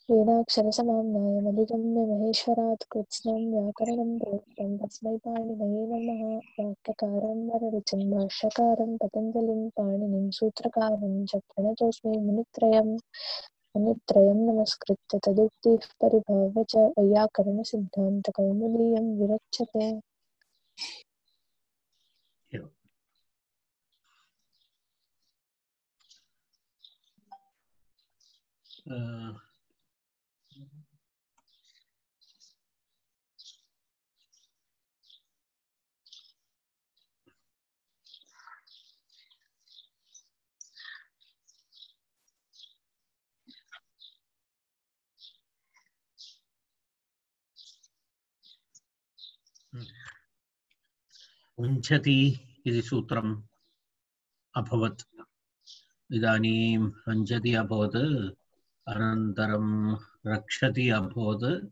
वेदाक्षरसमाम्नायमधिगम्य महेश्वरात् कृत्स्नं व्याकरणं प्रोक्तं तस्मै पाणिनये नमः। वाक्यकारं वररुचिं भाष्यकारं पतञ्जलिं पाणिनिं सूत्रकारं च प्रणतोऽस्मि मुनित्रयं नमस्कृत्य तदुक्तिः परिभाव्य च वैयाकरणसिद्धान्तकौमुदीयं विरच्यते। उञ्चति इति सूत्रम् अभवत्। इदानीम् उञ्चति अभवत्, अनन्तरं रक्षति अभवत्,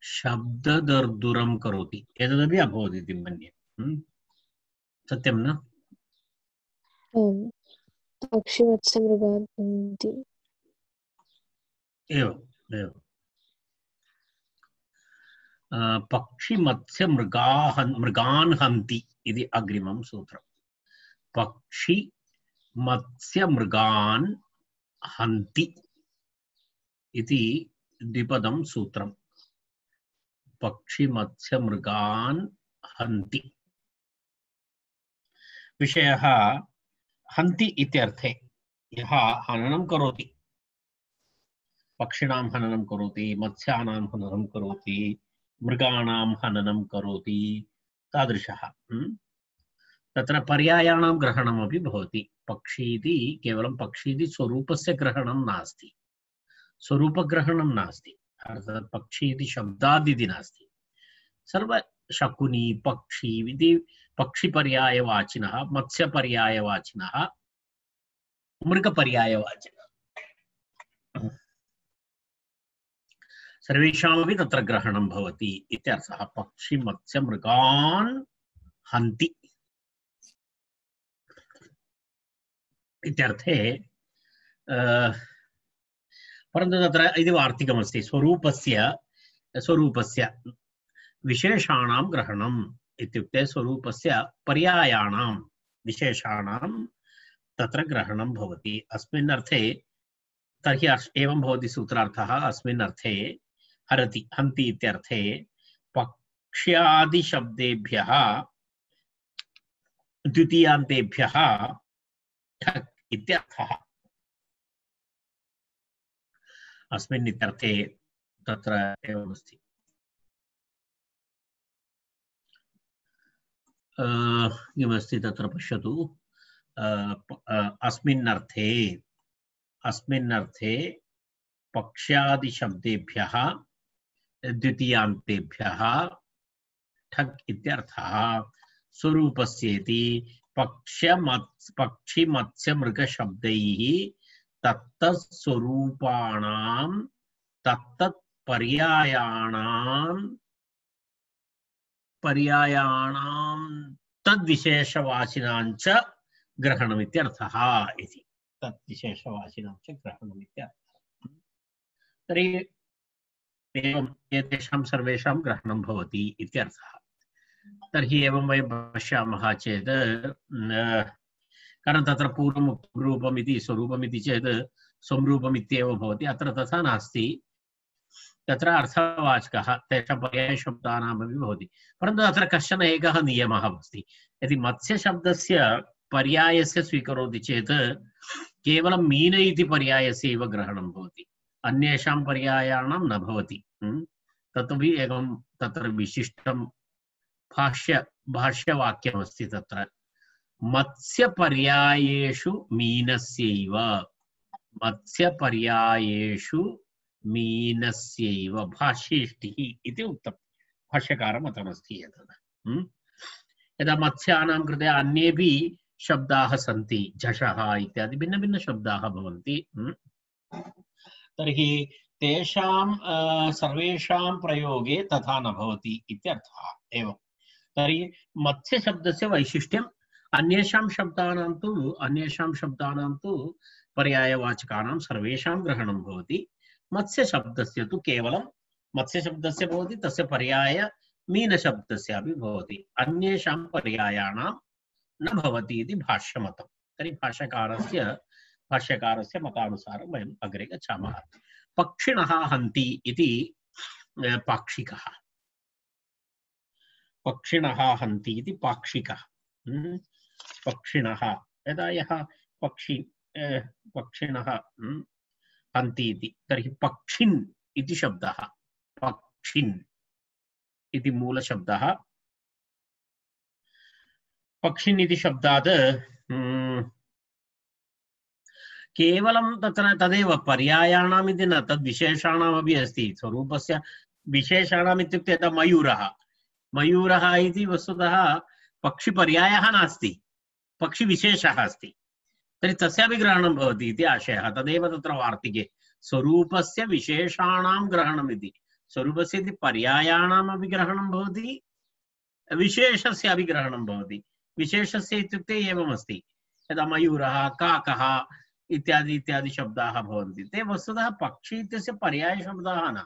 शब्ददर्दुरं करोति एतदपि अभवत् इति मन्ये। सत्यं न? ओम पक्षिवत्समृगान् हन्ति। एवम् एवम्। पक्षिमत्स्यमृगान् हन्ति इति अग्रिमं सूत्रम्। पक्षिमत्स्यमृगान् हन्ति इति द्विपदं सूत्रम्। पक्षिमत्स्यमृगान् हन्ति। विषयः हन्ति इत्यर्थे यः हननं करोति, पक्षिणां हननं करोति, मत्स्यानां हननं करोति, मृगाणां हननं करोति, तादृशः। तत्र पर्यायाणां ग्रहणमपि भवति। पक्षी इति केवलं पक्षी इति स्वरूपस्य ग्रहणं नास्ति, स्वरूपग्रहणं नास्ति, अर्थात् पक्षी इति शब्दादिति नास्ति। सर्व शकुनी पक्षी इति पक्षिपर्यायवाचिनः, मत्स्यपर्यायवाचिनः, मृगपर्यायवाचिनः, सर्वेषामपि तत्र ग्रहणं भवति इत्यर्थः। पक्षिमत्स्यमृगान् हन्ति इत्यर्थे, परन्तु तत्र इति वार्तिकमस्ति। स्वरूपस्य विशेषाणां ग्रहणम् इत्युक्ते स्वरूपस्य पर्यायाणां विशेषाणां तत्र ग्रहणं भवति। अस्मिन् अर्थे तर्हि एवं भवति सूत्रार्थः। अस्मिन् अर्थे हरति हन्ति इत्यर्थे पक्ष्यादिशब्देभ्यः द्वितीयान्तेभ्यः ठक् इत्यर्थः। अस्मिन् इत्यर्थे तत्र एवमस्ति। किमस्ति तत्र पश्यतु। अस्मिन् अर्थे पक्ष्यादिशब्देभ्यः द्वितीयान्तेभ्यः ठक् इत्यर्थः। स्वरूपस्येति पक्षिमत्स्यमृगशब्दैः तत्तत्स्वरूपाणां पर्यायाणां तद्विशेषवाचिनां च ग्रहणम् इत्यर्थः इति। तद्विशेषवाचिनां च ग्रहणम् इत्यर्थः। तर्हि एवम् एतेषां सर्वेषां ग्रहणं भवति इत्यर्थः। तर्हि एवं वयं पश्यामः चेत्, कारण तत्र पूर्वम् रूपम् इति स्वरूपम् इति चेत् संरूपम् इत्येव भवति। अत्र तथा नास्ति। तत्र अर्थवाचकः तेषां पर्यायशब्दानामपि भवति। परन्तु अत्र कश्चन एकः नियमः अस्ति। यदि मत्स्यशब्दस्य पर्यायस्य स्वीकरोति चेत् केवलं मीन इति पर्यायस्य एव ग्रहणं भवति, अन्येषां पर्यायाणां न भवति। तदपि एकं तत्र विशिष्टं भाष्यवाक्यमस्ति। तत्र मत्स्यपर्यायेषु मीनस्यैव, मत्स्यपर्यायेषु मीनस्यैव भाष्येष्टिः इति उक्तं। भाष्यकारमतमस्ति एतत्। यदा मत्स्यानां कृते अन्येपि शब्दाः सन्ति, झषः इत्यादि भिन्नभिन्नशब्दाः भवन्ति। तर्हि तेषां सर्वेषां प्रयोगे तथा न भवति इत्यर्थः। एवं तर्हि मत्स्यशब्दस्य वैशिष्ट्यम् अन्येषां शब्दानां तु पर्यायवाचकानां सर्वेषां ग्रहणं भवति। मत्स्यशब्दस्य तु केवलं मत्स्यशब्दस्य भवति, तस्य पर्याय मीनशब्दस्यापि भवति, अन्येषां पर्यायाणां न भवति इति भाष्यमतं। तर्हि भाष्यकारस्य मतानुसारं वयम् अग्रे गच्छामः। पक्षिणः हन्ति इति पाक्षिकः। पक्षिणः हन्ति इति पाक्षिकः। पक्षिणः यदा यः पक्षिणः हन्ति इति, तर्हि पक्षिन् इति शब्दः, पक्षिन् इति मूलशब्दः। पक्षिन् इति शब्दात् केवलं तत्र तदेव पर्यायाणाम् इति न, तद् विशेषाणामपि अस्ति। स्वरूपस्य विशेषाणाम् इत्युक्ते यदा मयूरः, मयूरः इति वस्तुतः पक्षिपर्यायः नास्ति, पक्षिविशेषः अस्ति। तर्हि तस्यापि ग्रहणं भवति इति आशयः। तदेव तत्र वार्तिके स्वरूपस्य विशेषाणां ग्रहणम् इति, स्वरूपस्य इति पर्यायाणामपि ग्रहणं भवति, विशेषस्यापि ग्रहणं भवति। विशेषस्य इत्युक्ते एवमस्ति, यदा मयूरः, काकः इत्यादि इत्यादि शब्दाः भवन्ति, ते वस्तुतः पक्षी इत्यस्य पर्यायशब्दाः न।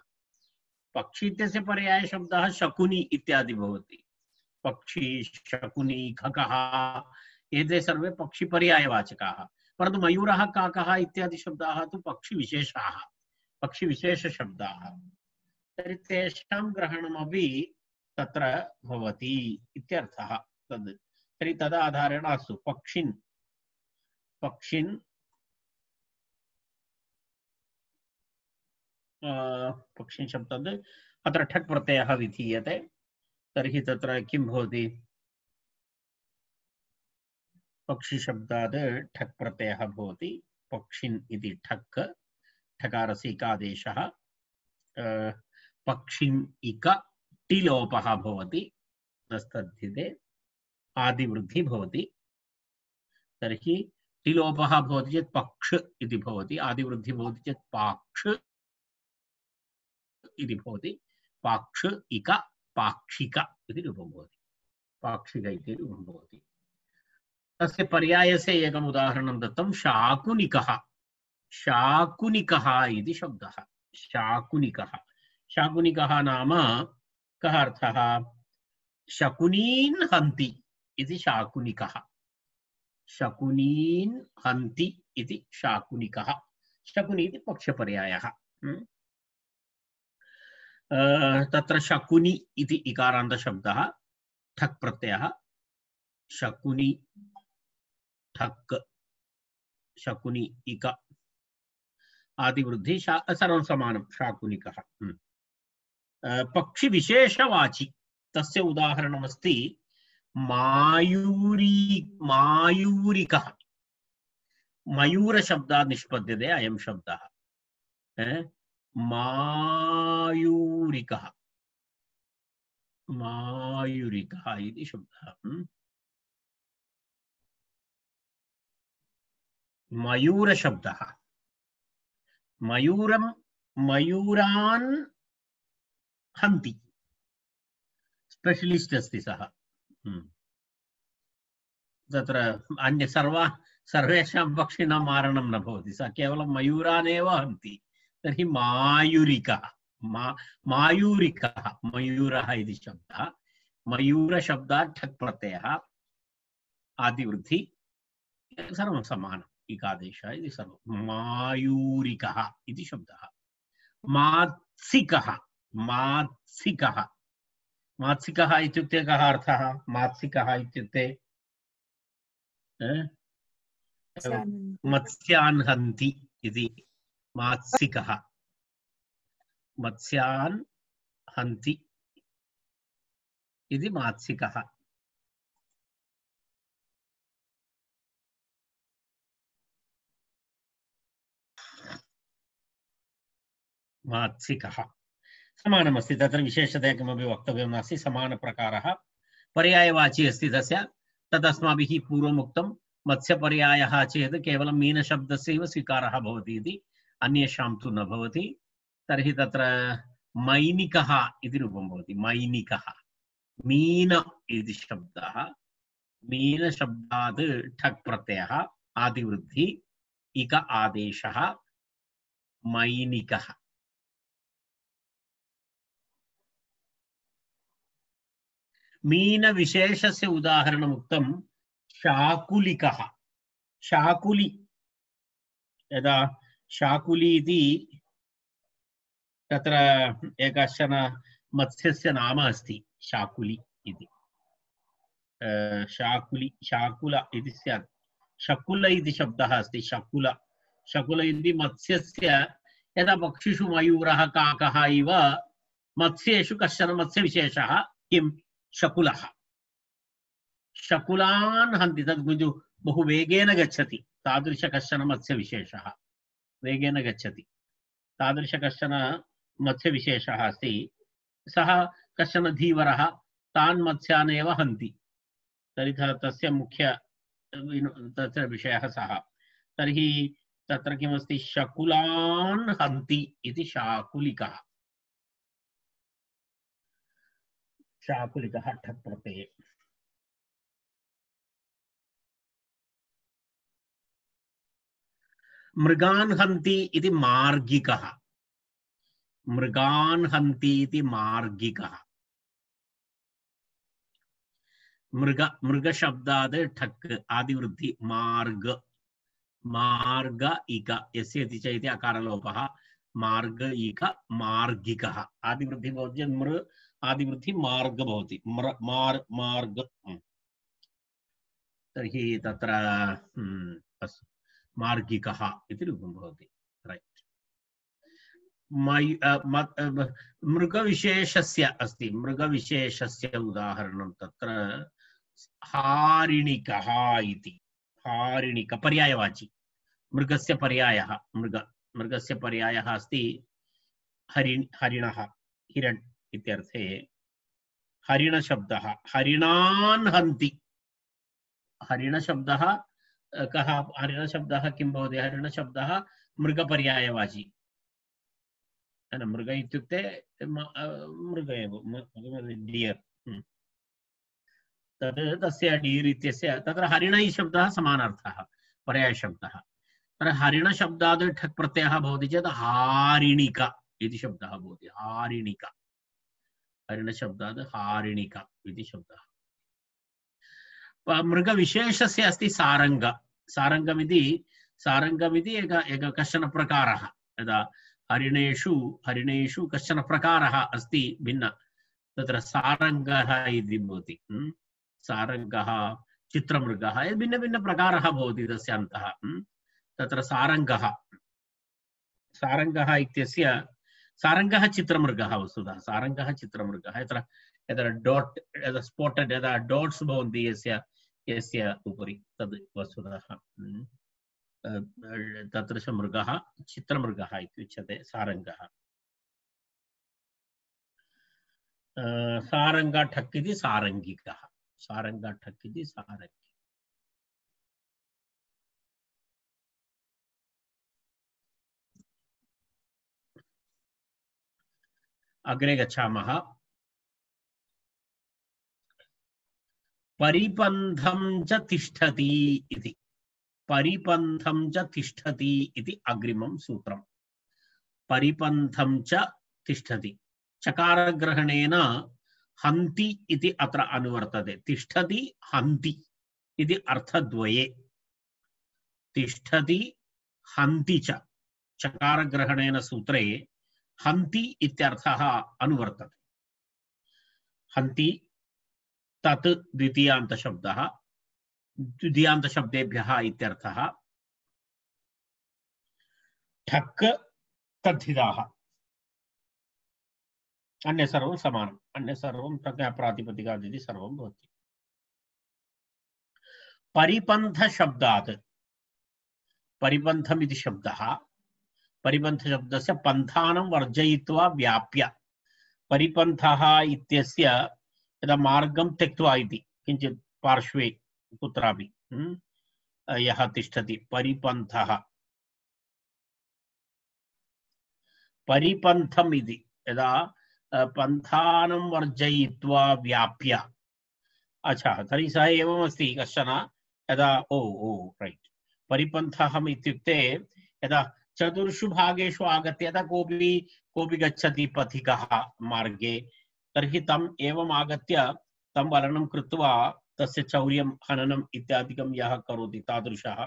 पक्षी इत्यस्य पर्यायशब्दाः शकुनी इत्यादि भवति। पक्षी, शकुनी, खगः एते सर्वे पक्षिपर्यायवाचकाः। परन्तु मयूरः, काकः इत्यादि शब्दाः तु पक्षिविशेषाः, पक्षिविशेषशब्दाः। तर्हि तेषां ग्रहणमपि तत्र भवति इत्यर्थः तद्। तर्हि तदाधारेण अस्तु पक्षिन् पक्षिन् शब्दात् अत्र ठक् प्रत्ययः विधीयते। तर्हि तत्र किं भवति? पक्षिशब्दात् ठक् प्रत्ययः भवति। पक्षिन् इति ठक्, ठकारस्य इकादेशः, पक्षिन् इक टिलोपः भवति, नस्तद्धिते आदिवृद्धि भवति। तर्हि टिलोपः भवति चेत् पक्ष इति भवति, आदिवृद्धि भवति चेत् पाक्ष इति भवति। पाक्ष इक पाक्षिक इति रूपं भवति, पाक्षिक इति रूपं भवति। तस्य पर्यायस्य एकम् उदाहरणं दत्तं, शाकुनिकः। शाकुनिकः इति शब्दः, शाकुनिकः। शाकुनिकः नाम कः अर्थः? शकुनीन् हन्ति इति शाकुनिकः। शकुनीन् हन्ति इति शाकुनिकः। शकुनी इति पक्षपर्यायः। तत्र शकुनी इति इकारान्तशब्दः, ठक् प्रत्ययः, शकुनी ठक्, शकुनी इक आदिवृद्धि, सर्वं समानं, शाकुनिकः। पक्षिविशेषवाचि, तस्य उदाहरणमस्ति मायूरिकः। मयूरशब्दात् निष्पद्यते अयं शब्दः, मायूरिकः। मायूरिकः इति शब्दः। मयूरशब्दः, मयूरान् हन्ति, स्पेशलिस्ट् अस्ति सः। तत्र अन्य सर्वेषां पक्षिणां मारणं न भवति, सः केवलं मयूरान् एव हन्ति। तर्हि मायूरिकः, मायूरिकः, मयूरः इति शब्दः। मयूरशब्दात् ठक् प्रत्ययः, आदिवृद्धि, सर्वं समानम्, इकादेशः इति सर्वं। मायूरिकः इति शब्दः। मात्सिकः, मात्सिकः, मात्सिकः इत्युक्ते कः अर्थः? मात्सिकः इत्युक्ते मत्स्यान् हन्ति इति मात्सिकः, मत्स्यान् हन्ति इति मात्सिकः। मात्सिकः समानमस्ति, तत्र विशेषतया किमपि वक्तव्यं नास्ति, समानप्रकारः। पर्यायवाची अस्ति तस्य, तदस्माभिः पूर्वमुक्तं। मत्स्यपर्यायः चेत् केवलं मीनशब्दस्यैव स्वीकारः भवति इति, अन्येषां तु न भवति। तर्हि तत्र मैनिकः इति रूपं भवति, मैनिकः। मीन इति शब्दः, मीनशब्दात् ठक् प्रत्ययः, आदिवृद्धि, इक आदेशः, मैनिकः मीनविशेषस्य उदाहरणम् उक्तं शाकुलिकः शाकुली यदा शाकुली इति तत्र एकश्चन मत्स्यस्य नाम अस्ति शाकुली इति शाकुली शाकुल इति स्यात् शकुल इति शब्दः अस्ति शकुल शकुल इति मत्स्यस्य यदा पक्षिषु मयूरः काकः इव मत्स्येषु कश्चन मत्स्यविशेषः किं शकुलः शकुलान् हन्ति तद् बहु वेगेन गच्छति तादृश कश्चन मत्स्यविशेषः वेगेन गच्छति तादृश कश्चन मत्स्यविशेषः अस्ति सः कश्चन धीवरः तान् मत्स्यान् एव हन्ति तर्हि तस्य मुख्य तत्र विषयः सः तर्हि तत्र किमस्ति शकुलान् हन्ति इति शाकुलिकः शाकुलिकः ठक् प्रत्यये मृगान् हन्ति इति मार्गिकः मृगान् हन्ति इति मार्गिकः मृग मृग शब्दात् ठक् आदिवृद्धि मार्ग मार्ग इक यस्य इति च इति अकारलोपः मार्ग इक मार्गिकः आदिवृद्धि भवति मृ आदिवृद्धि मार्ग भवति मार्ग तर्हि तत्र मार्गिकः इति रूपं भवति रैट् मृगविशेषस्य अस्ति मृगविशेषस्य उदाहरणं तत्र हारिणिकः इति हारिणिक पर्यायवाची मृगस्य पर्यायः मृगस्य पर्यायः अस्ति हरिणः हिरण् इत्यर्थे हरिणशब्दः हरिणान् हन्ति हरिणशब्दः कः हरिणशब्दः किं भवति हरिणशब्दः मृगपर्यायवाची मृग इत्युक्ते मृग एव डियर् तद् तस्य डीर् इत्यस्य तत्र हरिण शब्दः समानार्थः पर्यायशब्दः तत्र हरिणशब्दात् ठक् प्रत्ययः भवति चेत् हारिणिक इति शब्दः भवति हारिणिक हरिणशब्दात् हारिणिक इति शब्दः मृगविशेषस्य अस्ति सारङ्ग सारङ्गमिति एक कश्चन प्रकारः यदा हरिणेषु कश्चन प्रकारः अस्ति भिन्न तत्र सारङ्गः इति भवति सारङ्गः चित्रमृगः भिन्न भिन्न प्रकारः भवति तस्य अन्तः तत्र सारङ्गः इत्यस्य सारङ्गः चित्रमृगः वस्तुतः सारङ्गः चित्रमृगः यत्र डॉट स्पॉटेड यदा डॉट्स भवन्ति यस्य उपरि तद् वस्तुतः तदृश मृगः चित्रमृगः इत्युच्यते सारङ्गः सारङ्गठक् इति सारङ्गिकः सारङ्गठक् इति सारङ्गी अग्रे गच्छामः परिपन्थं च तिष्ठति इति परिपन्थं च तिष्ठति इति अग्रिमं सूत्रम् परिपन्थं च तिष्ठति चकारग्रहणेन हन्ति इति अत्र अनुवर्तते तिष्ठति हन्ति इति अर्थद्वये तिष्ठति हन्ति च चकारग्रहणेन सूत्रे हन्ति इत्यर्थः अनुवर्तते हन्ति तत् द्वितीयान्तशब्दः द्वितीयान्तशब्देभ्यः इत्यर्थः ठक् तद्धिताः अन्य सर्वं समानम् अन्य सर्वं प्रज्ञाप्रातिपदिकादिति सर्वं भवति परिपन्थशब्दात् परिपन्थम् इति शब्दः परिपन्थशब्दस्य पन्थानं वर्जयित्वा व्याप्य परिपन्थः इत्यस्य यदा मार्गं त्यक्त्वा इति किञ्चित् पार्श्वे कुत्रापि यः तिष्ठति परिपन्थः परिपन्थम् इति यदा पन्थानं वर्जयित्वा व्याप्य अच्छा तर्हि सः एवमस्ति कश्चन यदा ओ रैट् परिपन्थः इत्युक्ते यदा चतुर्षु भागेषु आगत्य यदा कोऽपि गच्छति पथिकः मार्गे तर्हि तम् एवम् आगत्य तं वलनं कृत्वा तस्य चौर्यं हननम् इत्यादिकं यः करोति तादृशः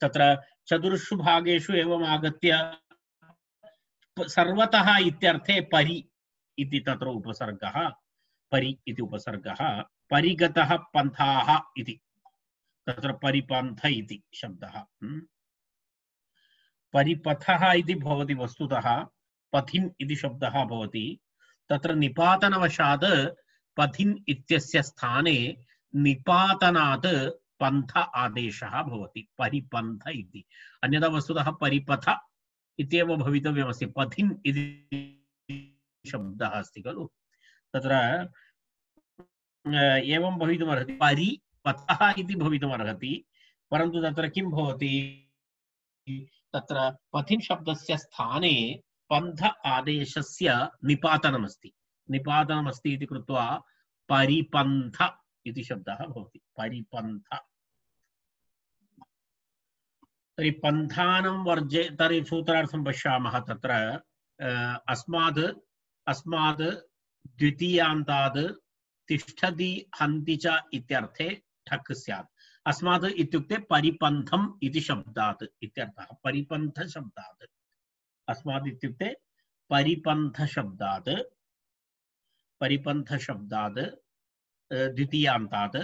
तत्र चतुर्षु भागेषु एवम् आगत्य सर्वतः इत्यर्थे परि इति तत्र उपसर्गः परि इति उपसर्गः परिगतः पन्थाः इति तत्र परिपन्थ इति शब्दः परिपथः इति भवति वस्तुतः पथिन् इति शब्दः भवति तत्र निपातनवशात् पथिन् इत्यस्य स्थाने निपातनात् पन्थ आदेशः भवति परिपन्थ इति अन्यथा वस्तुतः परिपथ इत्येव भवितव्यमस्ति पथिन् इति शब्दः अस्ति खलु तत्र एवं भवितुमर्हति परिपथः इति भवितुमर्हति परन्तु तत्र किं भवति तत्र पथिन् शब्दस्य स्थाने पन्थ आदेशस्य निपातनमस्ति इति कृत्वा परिपन्थ इति शब्दः भवति परिपन्थ तर्हि पन्थानं वर्जे तर्हि सूत्रार्थं पश्यामः तत्र अस्माद् द्वितीयान्ताद् तिष्ठति हन्ति च इत्यर्थे ठक् स्यात् अस्माद् इत्युक्ते परिपन्थम् इति शब्दात् इत्यर्थः परिपन्थ शब्दात् अस्माद् इत्युक्ते परिपन्थ शब्दात् द्वितीयान्तात्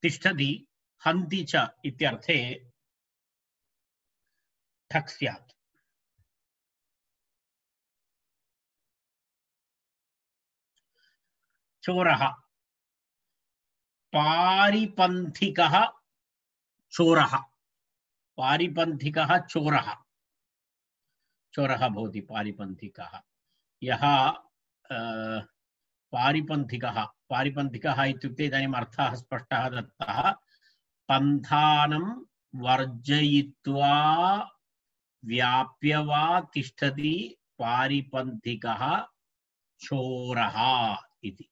तिष्ठति हन्ति च इत्यर्थे ठक् स्यात् चोरः पारिपन्थिकः चोरः भवति पारिपन्थिकः यः पारिपन्थिकः इत्युक्ते इदानीम् अर्थः स्पष्टः दत्तः पन्थानं वर्जयित्वा व्याप्य वा तिष्ठति पारिपन्थिकः चोरः इति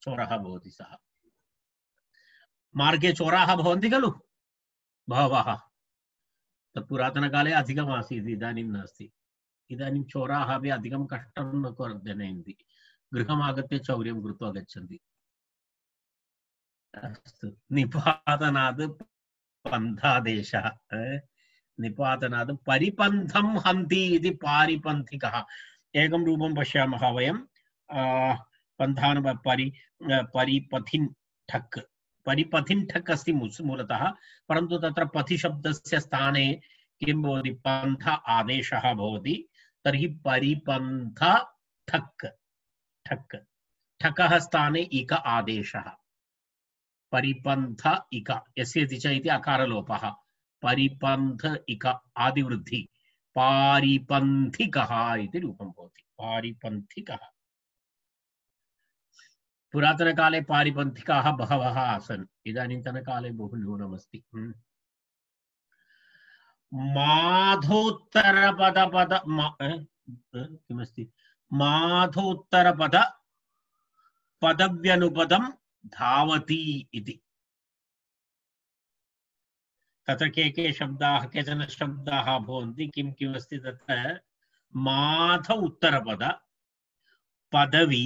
चोरः भवति सः मार्गे चोराः भवन्ति खलु बहवः तत् पुरातनकाले अधिकमासीत् इदानीं नास्ति इदानीं चोराः अपि अधिकं कष्टं न जनयन्ति गृहम् आगत्य चौर्यं कृत्वा गच्छन्ति अस्तु निपातनात् पन्थादेशः निपातनात् परिपन्थं हन्ति इति पारिपन्थिकः एकं रूपं पश्यामः वयं पन्थान परिपथिन् ठक् अस्ति मूलतः परन्तु तत्र पथि शब्दस्य स्थाने किं भवति पन्थ आदेशः भवति तर्हि परिपन्थ ठक् ठकः स्थाने इक आदेशः परिपन्थ इक यस्य च इति अकारलोपः परिपन्थ इक आदिवृद्धि पारिपन्थिकः इति रूपं भवति पारिपन्थिकः पुरातनकाले पारिपन्थिकाः बहवः आसन् इदानीन्तनकाले बहु न्यूनमस्ति माधोत्तरपद किमस्ति माधोत्तरपद पदव्यनुपदं धावति इति तत्र के शब्दाः केचन शब्दाः भवन्ति किम् अस्ति तत्र माध उत्तरपद पदवी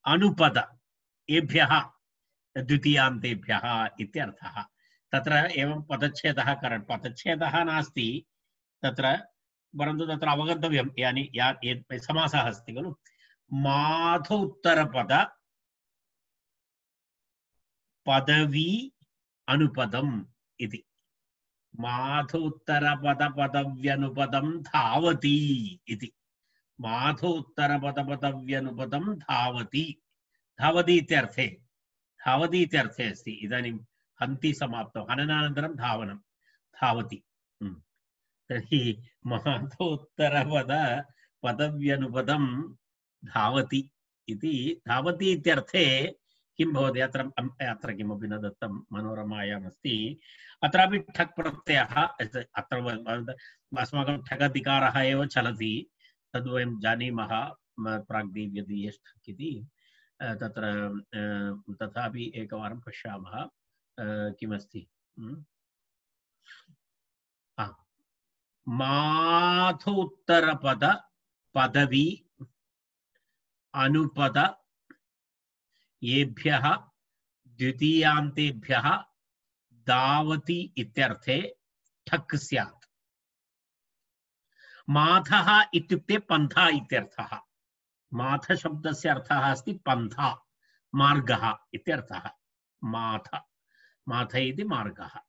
अनुपद एभ्यः द्वितीयान्तेभ्यः इत्यर्थः तत्र एवं पदच्छेदः नास्ति तत्र परन्तु तत्र अवगन्तव्यं यानि समासः अस्ति खलु माध उत्तरपद पदवी अनुपदम् इति माधोत्तरपदपदव्यनुपदं धावति इति माधोत्तरपदपदव्यनुपदं धावति इत्यर्थे अस्ति इदानीं हन्ति समाप्तौ हननानन्तरं धावनं धावति तर्हि माधोत्तरपदव्यनुपदं धावति इत्यर्थे किं भवति अत्र किमपि न दत्तं मनोरमायाम् अस्ति अत्रापि ठक् प्रत्ययः अत्र अस्माकं ठगधिकारः एव चलति तद् वयं जानीमः प्राग्देव्यदीयश् ठक् इति तत्र तथापि एकवारं पश्यामः किमस्ति माधोत्तरपद पदवी अनुपद येभ्यः द्वितीयान्तेभ्यः धावति इत्यर्थे ठक् स्यात्। माथः इत्युक्ते पन्था इत्यर्थः। माथ शब्दस्य अर्थः अस्ति पन्था, मार्गः इत्यर्थः। माथ, माथ इति मार्गः।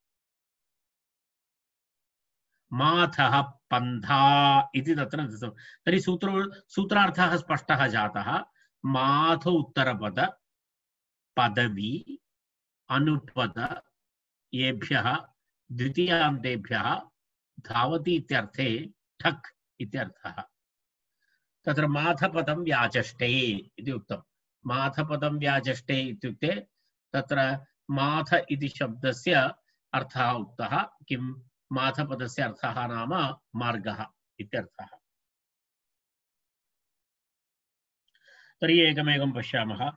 माथः पन्था इति तत्र दत्तं। तर्हि सूत्रार्थः स्पष्टः जातः। माथ उत्तरपद पदवी अनुपद येभ्यः द्वितीयान्तेभ्यः धावति इत्यर्थे ठक् इत्यर्थः। तत्र माथपदं व्याचष्टे इति उक्तं। माथपदं व्याचष्टे इत्युक्ते तत्र माथ इति शब्दस्य अर्थः उक्तः। किं माथपदस्य अर्थः नाम मार्गः इत्यर्थः। तर्हि एकमेकं पश्यामः।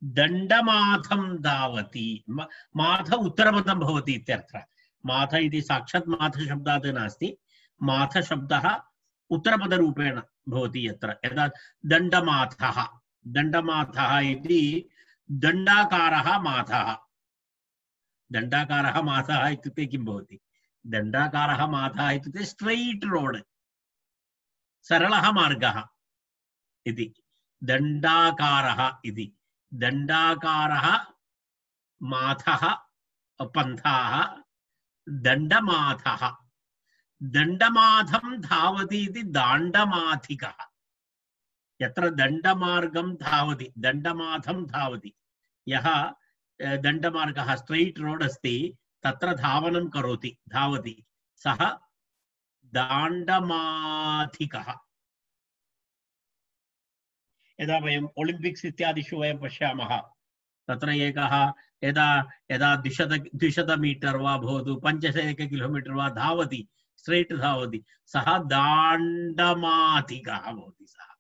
दण्डमाथं धावति। माथ उत्तरपदं भवति इत्यर्थः। माथ इति साक्षात् माथ शब्दात् नास्ति। माथ शब्दः उत्तरपदरूपेण भवति यत्र। यदा दण्डमाथः, दण्डमाथः इति दण्डाकारः माथः। दण्डाकारः माथः इत्युक्ते किं भवति? दण्डाकारः माथः इत्युक्ते स्ट्रैट् रोड्, सरलः मार्गः इति। दण्डाकारः इति। दण्डाकारः माथः पन्थाः दण्डमाथः। दण्डमाथं धावति इति दाण्डमाथिकः। यत्र दण्डमार्गं धावति, दण्डमाथं धावति, यः दण्डमार्गः स्ट्रैट् रोड् अस्ति तत्र धावनं करोति, धावति, सः दाण्डमाथिकः। यदा वयम् ओलिम्पिक्स् इत्यादिषु वयं पश्यामः, तत्र एकः यदा यदा 200 मीटर् वा भवतु 500 किलोमीटर् वा धावति, स्ट्रैट् धावति, सः दाण्डमाथिकः भवति। सः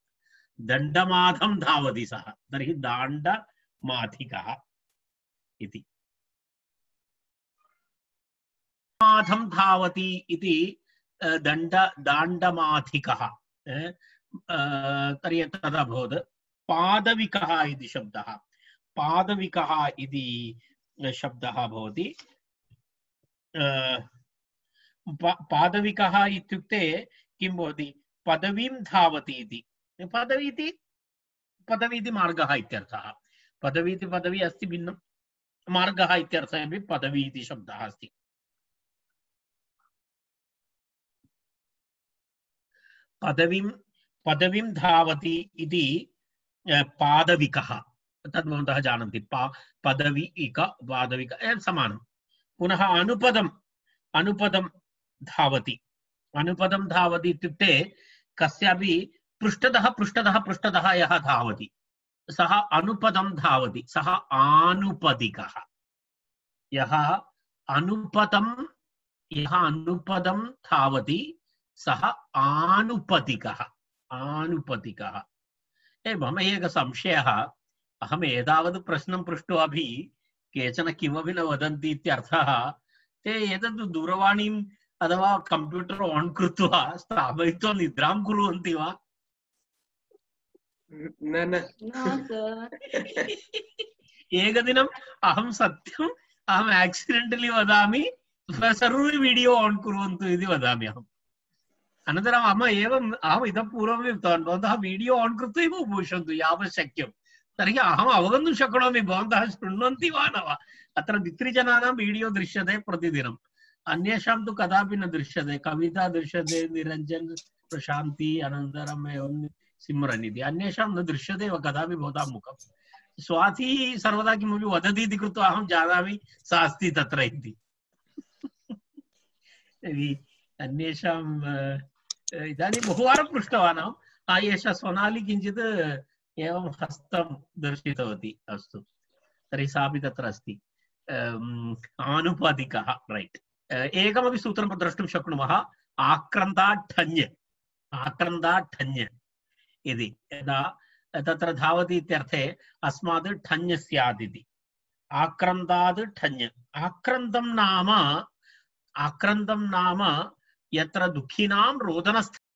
दण्डमाथं धावति सः, तर्हि दाण्डमाथिकः इति। माथं धावति इति दाण्डमाथिकः। तर्हि तदा भवत् पादविकः इति शब्दः। पादविकः इति शब्दः भवति। पादविकः इत्युक्ते किं भवति? पदवीं धावति इति। पदवी इति मार्गः इत्यर्थः। पदवी इति पदवी अस्ति भिन्नं, मार्गः इत्यर्थः अपि पदवी इति शब्दः अस्ति। पदवीं धावति इति पादविकः। तद् भवन्तः जानन्ति। पदवीक पादविक समानं। पुनः अनुपदं धावति। अनुपदं धावति इत्युक्ते कस्यापि पृष्ठतः यः धावति सः अनुपदं धावति, सः आनुपदिकः। यः अनुपदं धावति सः आनुपदिकः। आनुपदिकः। मम एकः संशयः। अहम् एतावत् प्रश्नं पृष्ट्वापि केचन किमपि न वदन्ति इत्यर्थः। ते एतत् दूरवाणीम् अथवा कंप्यूटर ऑन कृत्वा स्थापयित्वा निद्रां कुर्वन्ति वा? न न एकदिनम् अहं सत्यम् अहम् एक्सिडेंटली वदामि, सर्वे वीडियो ऑन कुर्वन्तु इति वदामि अहम्। अनन्तरम् अहम् इतः पूर्वमेव उक्तवान्, भवन्तः वीडियो ऑन कृत्वा एव उपविशन्तु यावत् शक्यं। तर्हि अहम् अवगन्तुं शक्नोमि भवन्तः शृण्वन्ति वा न वा। अत्र द्वित्रिजनानां वीडियो दृश्यते प्रतिदिनम्, अन्येषां तु कदापि न दृश्यते। कविता दृश्यते, निरञ्जन, प्रशान्ति, अनन्तरम् एवं सिमरन् इति। अन्येषां न दृश्यते एव कदापि भवतां मुखं। स्वाती सर्वदा किमपि वदति इति कृत्वा अहं जानामि सा अस्ति तत्र इति। अन्येषाम् इदानीं बहुवारं पृष्टवान् अहम्। एषा सोनाली किञ्चित् एवं हस्तं दर्शितवती। अस्तु, तर्हि सापि तत्र अस्ति। आनुपादिकः, रैट्। एकमपि सूत्रं द्रष्टुं शक्नुमः। आक्रन्दाठञ्, आक्रन्दाठञ् इति। यदा तत्र धावति इत्यर्थे अस्मात् ठञ् स्यात् इति। आक्रन्दात् ठञ्। आक्रन्दं नाम यत्र दुःखिनां रोदनस्थानं